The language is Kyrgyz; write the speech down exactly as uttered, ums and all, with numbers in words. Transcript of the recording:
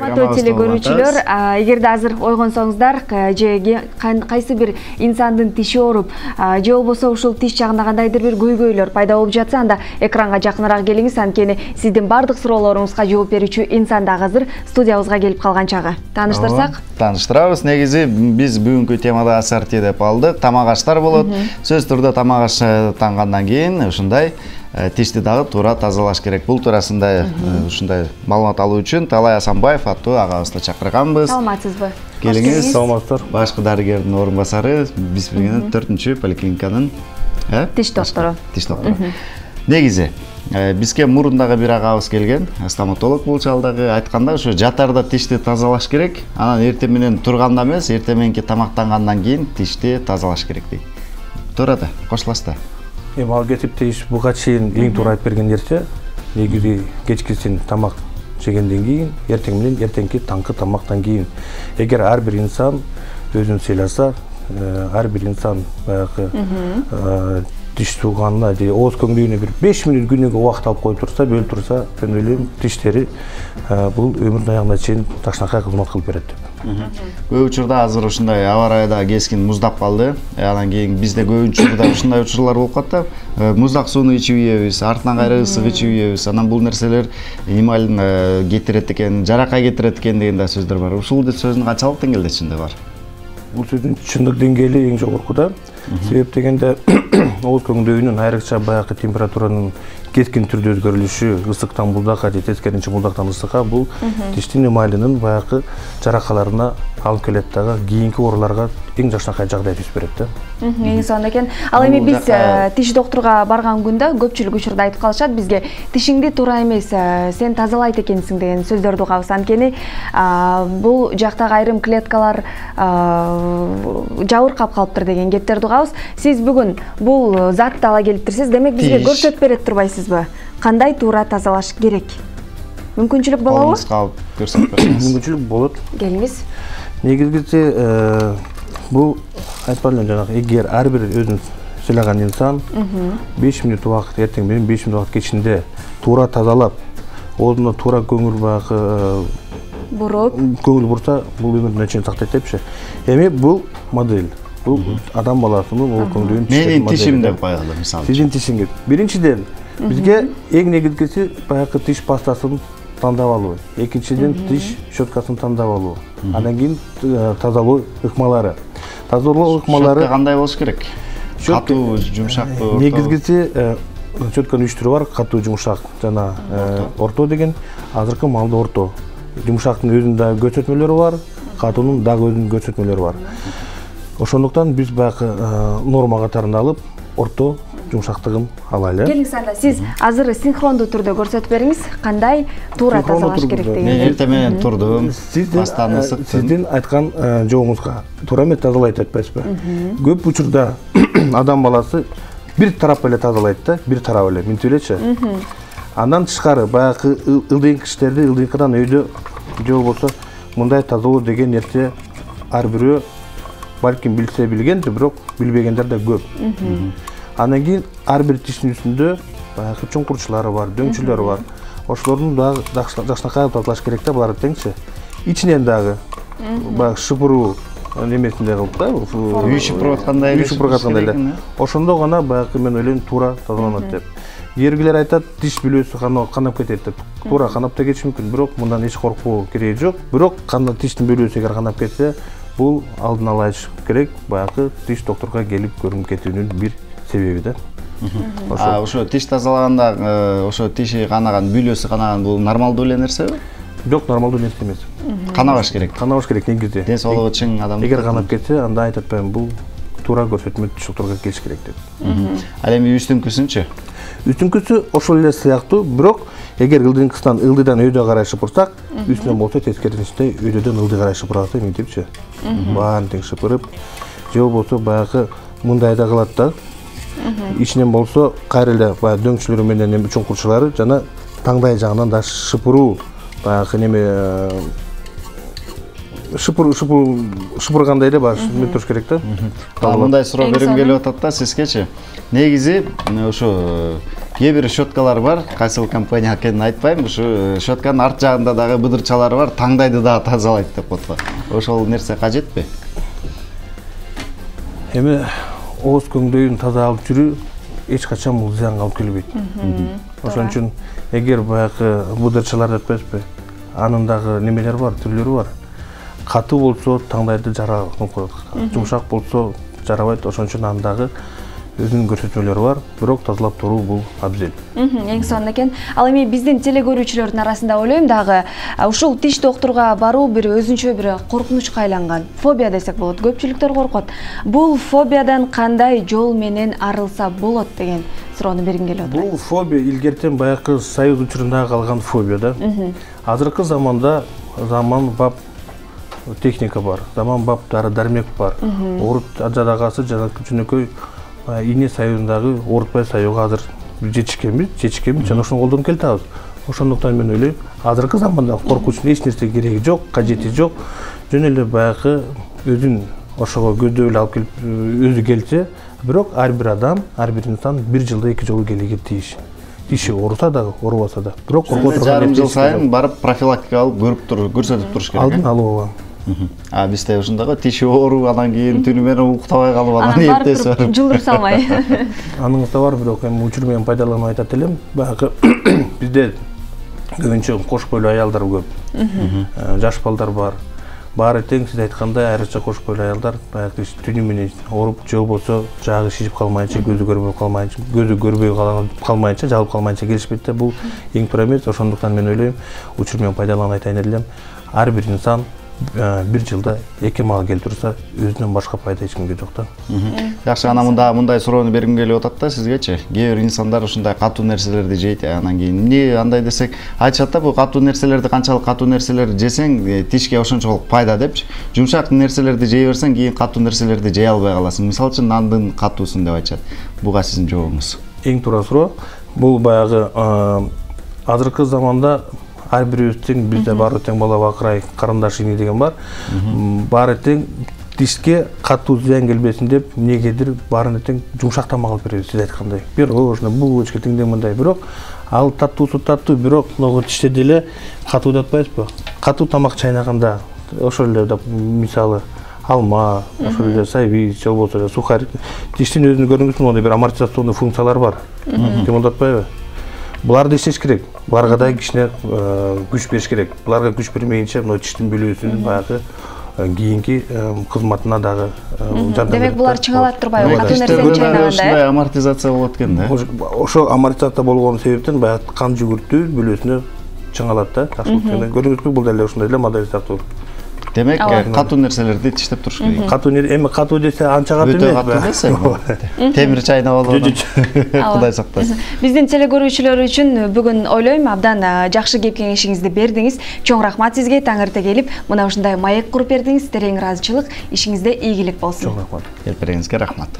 Урматтуу теле көрүүчүлөр, эгерде азыр ойгонсоңуздар, же кайсы бир инсандын тиши ооруп, же болбосо ушул тиш жагында кандайдыр бир көйгөйлөр пайда болуп жатса, анда экранга жакыныраак келиңиз, анткени сиздин бардык суроолоруңузга жооп берүүчү инсан дагы азыр студиябызга келип калган чагы. Тааныштырсак? Тааныштырабыз. Негизи биз бүгүнкү темада ассорти деп алдык. Тамак аштар болот. Сөзсүз түрдө тамак аш тангандан кийин ушундай тишти дагы туура тазалаш керек. Бул туурасында ушундай маалымат алуу үчүн Талай Асанбаев аттуу агабызды чакырганбыз. Саламатсызбы? Келиңиз. Саламатсыздар. Башкы дарыгердин орун басары, биз билген төртүнчү поликлиниканын тиш доктору. Тиш доктору. Негизи бизге мурундагы бир агабыз келген, стоматолог болчу ал дагы, айтканда ушу жатарда тишти тазалаш керек. Анан эртең менен турганда эмес, эртең мененки тамактангандан кийин тишти тазалаш керек дейт. Туура да, кошуласыз да. Эми ал кесипте иш буга чейин эң туура айтып берген нерсе, негизи кечкисин тамак жегенден кийин, эртең менен эртеңки таңкы тамактан кийин. Эгер ар бир инсан өзүн сыйласа, ар бир инсан баягы тиш жууганына же ооз көңдөгүнө бир беш мүнөт күнүгө убакыт алып коюп турса, бөлүп турса, мен ойлойм, тиштери бул өмүрүнүн аягына чейин ташнакай кызмат кылып берет деп. Көп учурда азыр ушундай аба ырайда кескин муздап калды. Анан кийин бизде көп учурда ушундай учурлар болуп калат да. Муздак сууну ичип ийебиз, артынан кайра ысык ичип ийебиз. Анан бул нерселер эмалин кетирет экен, жаракай кетирет экен деген да сөздөр бар. Ушул сөздүн канчалык деңгээлде чындыгы бар? Бул сөздүн чындык деңгээли эң жогоркуда. Себеп дегенде ооз көңдөгүнүн айрыкча баягы температуранын кескин түрдө өзгөрүлүшү, ысыктан муздакка же тескерисинче муздактан ысыкка бул тиштин эмалинин баягы жаракаларына алып келет дагы, кийинки ооруларга эң жакшынакай жагдай түзүп берет да. Эң сонун экен. Ал эми биз тиш докторуга барган күндө көпчүлүк учурда айтып калышат бизге, тишиңди туура эмес, сен тазалайт экенсиң деген сөздөрдү угабыз. Анткени бул жактагы айрым клеткалар жабыркап калыптыр деген кептерди угабыз. Сиз бүгүн бул затты ала келиптирсиз, демек бизге көрсөтүп берет турбайсызбы? Кандай туура тазалаш керек? Мүмкүнчүлүк болобу? Колуңузга алып көрсөтүп бериңиз. Мүмкүнчүлүк болот. Келиңиз. Негизгиси бул айтпадым эле жанагы, эгер ар бир өзүн сыйлаган инсан беш мүнөт убакыт, эртең менен беш мүнөт убакыт кечинде туура тазалап, оозуна туура көңүл багы буруп, көңүл бурса, бул өмүрүнө чейин сактайт депчи. Эми бул модель. Бул адам баласынын ооз көңдөгүн менин тишим деп коелу, мисалы. Сиздин тишиңиз. Биринчиден, бизге эң негизгиси баягы тиш пастасын тандап алуу. Экинчиден, тиш щеткасын тандап алуу. Андан кийин тазалоо ыкмалары. Тазалоо ыкмалары щетка кандай болуш керек? Катуу, жумшактуу, орто. Негизгиси щетканын үч түрү бар: катуу, жумшак жана орто деген. Азыркы маалда орто. Жумшактын өзүнүн дагы көрсөтмөлөрү бар, катуунун дагы өзүнүн көрсөтмөлөрү бар. Ошондуктан биз баягы норма катарында алып, орто жумшактыгын алайлы. Келиңиз анда, сиз азыр синхрондуу түрдө көрсөтүп бериңиз, кандай туура тазалаш керек деген. Мен эртең менен турдум, пастаны ысыктым. Сиздин айткан жообуңузга туура эмес тазалайт айтпайсызбы? Көп учурда адам баласы бир тарап эле тазалайт да, бир тарап эле, мынтип элечи. Андан тышкары баягы ылдыйынкы иштерди ылдыйынкыдан өйдө же болбосо мындай тазалоо деген нерсе ар бирөө балким билсе билгенdir, бирок билбегендер да көп. Андан кийин ар бир тиштин үстүндө баягы чуңкурчулары бар, дөңчүлөрү бар. Ошолордун дагы жакшынакай тазалаш керек да, буларды теңчи. Ичинен дагы баягы шыпыруу немесинде кылып да, үй шыпырып аткандай эле. Үй шыпырып аткандай эле. Ошондо гана баягы мен ойлойм туура тазаланат деп. Эргилер айтат, тиш бүлөсү канап кетет деп. Туура канап да кетиши мүмкүн, бирок мындан эч коркуу кереги жок. Бирок кандай тиштин бүлөсү эгер канап кетсе, бул алдын ала айтыш керек, баягы тиш докторго келип көрүнүп кетүүнүн бир себеби да. А ошо тиш тазалаганда ошо тиши канаган, бүлөсү канаган бул нормалдуу эле нерсеби? Жок, нормалдуу нерсе эмес. Канабаш керек. Канабаш керек негизи. Ден соолугу чың адам. Эгер канап кетсе, анда айтып атпайм, бул туура көрсөтмө тиш докторго келиш керек деп. Ал эми үстүңкүсүнчү? Үстүңкүсү ошол эле сыяктуу, бирок эгер ылдыйынкысынан ылдыйдан өйдө карай шыпырсак, үстүнөн болсо тескерисинче өйдөдөн ылдый карай шыпырат, мынтипчи. Баарын тең шыпырып, же болбосо баягы мындай да кылат да. Ичинен болсо кайра эле баягы дөңчүлөрү менен чуңкурчулары жана таңдай жагынан да шыпыруу, баягы неме шыпыр шыпыр шыпыргандай эле баш эме туруш керек да. Мындай суроо бергим келип атат да сизгечи. Негизи ошо кээ бир щеткалар бар, кайсыл компания экенин айтпайм, ушу щетканын арт жагында дагы быдырчалары бар, таңдайды дагы тазалайт деп коет. Ошол нерсе кажетпи? Эми ооз көңдөйүн таза алып жүрүү эч качан бул зыянга алып келбейт. Ошон үчүн эгер баягы быдырчалар жетпеспи, анын дагы немелери бар, түрлөрү бар. Катуу болсо таңдайды жара кылып коет. Жумшак болсо жарабайт, ошон үчүн аны дагы өзүнүн көрсөтмөлөрү бар, бирок тазалап туруу бул абзел. Эң сонун экен. Ал эми биздин телекөрүүчүлөрдүн арасында ойлойм дагы ушул тиш доктурга баруу бир өзүнчө бир коркунучка айланган. Фобия десек болот. Көпчүлүктөр коркот. Бул фобиядан кандай жол менен арылса болот деген суроону бергим келип атат. Бул фобия илгертен баягы союз учурунда калган фобия да. Азыркы заманда заман бап техника бар, заман бап дары дармек бар. Орут ажадагасы жана жөнөкөй ийне союзундагы оорутпай саюуга азыр жетишкенбиз, жетишкенбиз жана ошону колдонуп келатабыз. Ошондуктан мен ойлойм, азыркы заманда коркуучтун эч нерсе кереги жок, кажети жок. Жөн эле баягы өзүн ошого көздөп эле алып келип өзү келсе, бирок ар бир адам, ар бир инсан бир жылда эки жолу келиге тийиш. Тиши ооруса дагы, оорубаса да. Бирок корко турган жарым жыл сайын барып профилактика алып көрүп туруп, көрсөтүп туруш керек. Алдын алуу. А бизде ушундагы тиши оору, анан кийин түнү менен уктабай калып, анан эртеси барып жылдыр салмай. Аныңыз да бар, бирок эми учур менен пайдаланып айтат элем. Баягы бизде көбүнчө кош бойлуу аялдар көп. Жаш балдар бар. Баары тең сиз айткандай айрыкча кош бойлуу аялдар баягы түнү менен ооруп, же болбосо жагы шишип калмайынча, көзү көрбөй калмайынча, көзү көрбөй калмайынча, жалып калмайынча келишпейт да. Бул эң туура эмес. Ошондуктан мен ойлойм, учур менен пайдаланып айтайын элем. Ар бир инсан бир жылда эки мага келип турса, өзүнөн башка пайда эч кимге жок да. Жакшы, анан мында мындай суроону бергим келип атат да сизгечи. Кээ бир инсандар ушундай катуу нерселерди жейт, анан кийин эмне андай десек, айтышат да, бул катуу нерселерди канчалык катуу нерселерди жесең, тишке ошончолук пайда депчи. Жумшак нерселерди жей берсең, кийин катуу нерселерди жей албай каласың. Мисалы үчүн нандын катуусун деп айтышат. Буга сиздин жообуңуз? Эң туура суроо. Бул баягы азыркы заманда ар бирибиз тең, бизде баары тең бала бакырай, карындаш ини деген бар. Баары тең, тишке катуу зыян келбесин деп, эмнегедир баарына тең жумшак тамак алып беребиз, сиз айткандай. Пирожный, булочка теңдей мындай, бирок ал таттуусу таттуу, бирок могу тиште деле катуу деп атпайбызбы? Катуу тамак чайнаганда, ошол эле мисалы алма, ошол эле сайвич, же болбосо эле сухарь, тиштин өзүнүн көрүнгүсүн мондай бир амортизационный функциялар бар. Ким атпайбы? Буларды иштеш керек. Буларга да кичине күч бериш керек. Буларга күч бермейинче, мына тиштин бөлүүсүн баягы кийинки кызматына дагы жардам. Демек булар чыңалат турбайбы? Катуу нерсени чайнаганда ушундай амортизация болот экен да. Ошо амортизация болгон себептен баягы кан жүгүртүү бөлүүсүнө чыңалат да. Көрүңүзбү, бул деле ушундай эле модель сыяктуу. Демек, катуу нерселерди тиштеп туруш керек. Катуу нерсе, эми катуу десе анча катуу эмес. Өтө катуу десе, темир чайнап алып. Кудай сактасын. Биздин телекөрүүчүлөр үчүн бүгүн ойлойм абдан жакшы кеп кеңешиңизди бердиңиз. Чоң рахмат сизге, таңыртэ келип, мына ушундай маек куруп бердиңиз. Терең ыраазычылык, ишиңизде ийгилик болсун. Чоң рахмат. Келип бергениңизге рахмат.